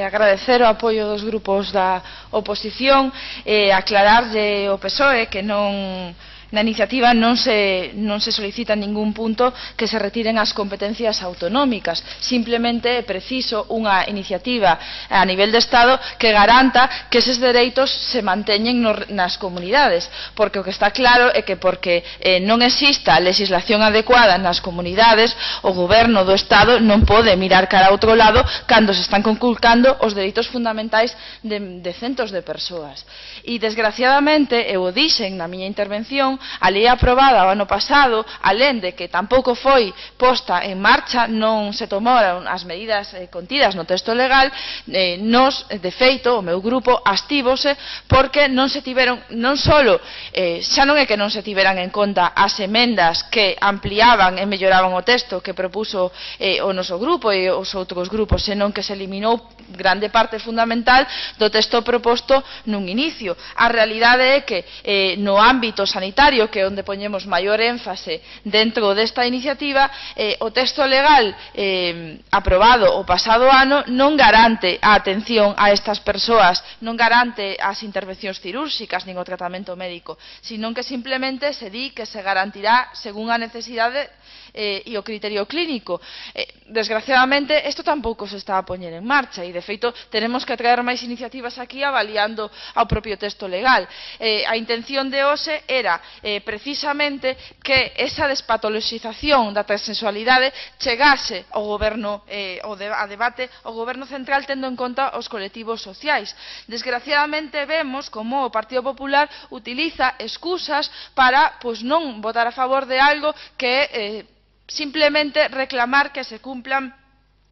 agradecer o apoio dos grupos da oposición e aclararlle ao PSOE que na iniciativa non se solicita en ningún punto que se retiren as competencias autonómicas. Simplemente é preciso unha iniciativa a nivel de Estado que garanta que eses dereitos se manteñen nas comunidades, porque o que está claro é que porque non exista legislación adecuada nas comunidades, o goberno do Estado non pode mirar cara a outro lado cando se están conculcando os dereitos fundamentais de centos de persoas. E, desgraciadamente, eu o dixen na miña intervención, a lei aprobada o ano pasado, alén de que tampouco foi posta en marcha, non se tomaron as medidas contidas no texto legal, nos, de feito, o meu grupo abstívose porque non se tiveron, non solo, xa non é que non se tiveran en conta as emendas que ampliaban e melloraban o texto que propuso o noso grupo e os outros grupos, senón que se eliminou grande parte fundamental do texto proposto nun inicio. A realidade é que no ámbito sanitario, que é onde poñemos maior énfase dentro desta iniciativa, o texto legal aprobado o pasado ano non garante a atención a estas persoas, non garante as intervencións cirúrxicas nin o tratamento médico, sino que simplemente se di que se garantirá según a necesidade e o criterio clínico. Desgraciadamente, isto tampouco se está a poñer en marcha e, de feito, tenemos que traer máis iniciativas aquí avaliando ao propio texto legal. A intención de hoxe era precisamente que esa despatoloxización da transexualidade chegase ao goberno, a debate ao goberno central tendo en conta os colectivos sociais. Desgraciadamente vemos como o Partido Popular utiliza excusas para non votar a favor de algo que simplemente reclamar que se cumplan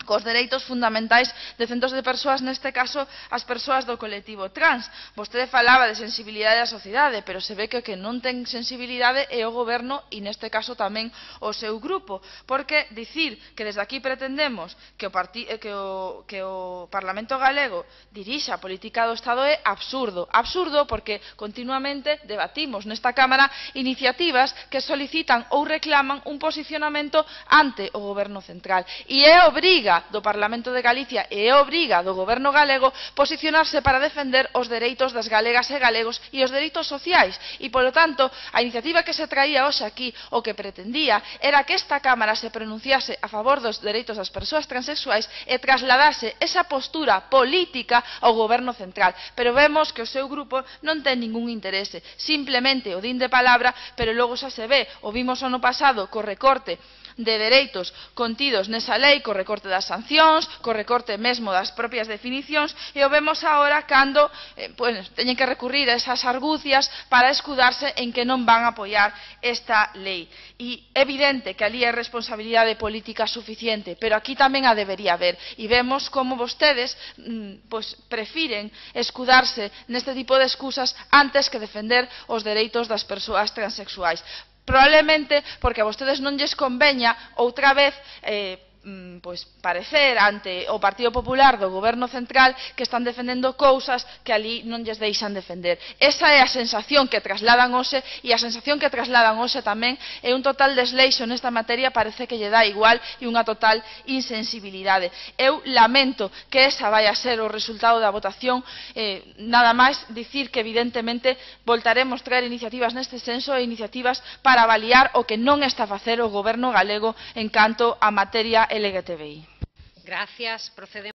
cos dereitos fundamentais de centos de persoas, neste caso as persoas do colectivo trans. Vostede falaba de sensibilidade da sociedade, pero se ve que o que non ten sensibilidade é o goberno e neste caso tamén o seu grupo, porque dicir que desde aquí pretendemos que o Parlamento galego dirixa a política do Estado é absurdo. Absurdo porque continuamente debatimos nesta Cámara iniciativas que solicitan ou reclaman un posicionamento ante o goberno central e é obriga do Parlamento de Galicia e é obriga do goberno galego posicionarse para defender os dereitos das galegas e galegos e os dereitos sociais e, polo tanto, a iniciativa que se traía hoxe aquí o que pretendía era que esta Cámara se pronunciase a favor dos dereitos das persoas transexuais e trasladase esa postura política ao goberno central, pero vemos que o seu grupo non ten ningún interese, simplemente o din de palabra, pero logo xa se ve, o vimos ano pasado co recorte de dereitos contidos nesa lei, co recorte das sancións, co recorte mesmo das propias definicións, e o vemos agora cando teñen que recurrir a esas argucias para escudarse en que non van a apoiar esta lei. E é evidente que ali hai responsabilidade política suficiente, pero aquí tamén a debería haber, e vemos como vostedes prefiren escudarse neste tipo de excusas antes que defender os dereitos das persoas transexuais. Probablemente porque a vostedes non lles conveña outra vez parecer ante o Partido Popular do Goberno Central que están defendendo cousas que ali non lles deixan defender. Esa é a sensación que trasladan hoxe e a sensación que trasladan hoxe tamén é un total desleixo nesta materia, parece que lle dá igual e unha total insensibilidade. Eu lamento que esa vai a ser o resultado da votación, nada máis dicir que evidentemente voltaremos traer iniciativas neste senso e iniciativas para avaliar o que non está a facer o Goberno galego en canto a materia LGTBI. Gracias. Procedemos.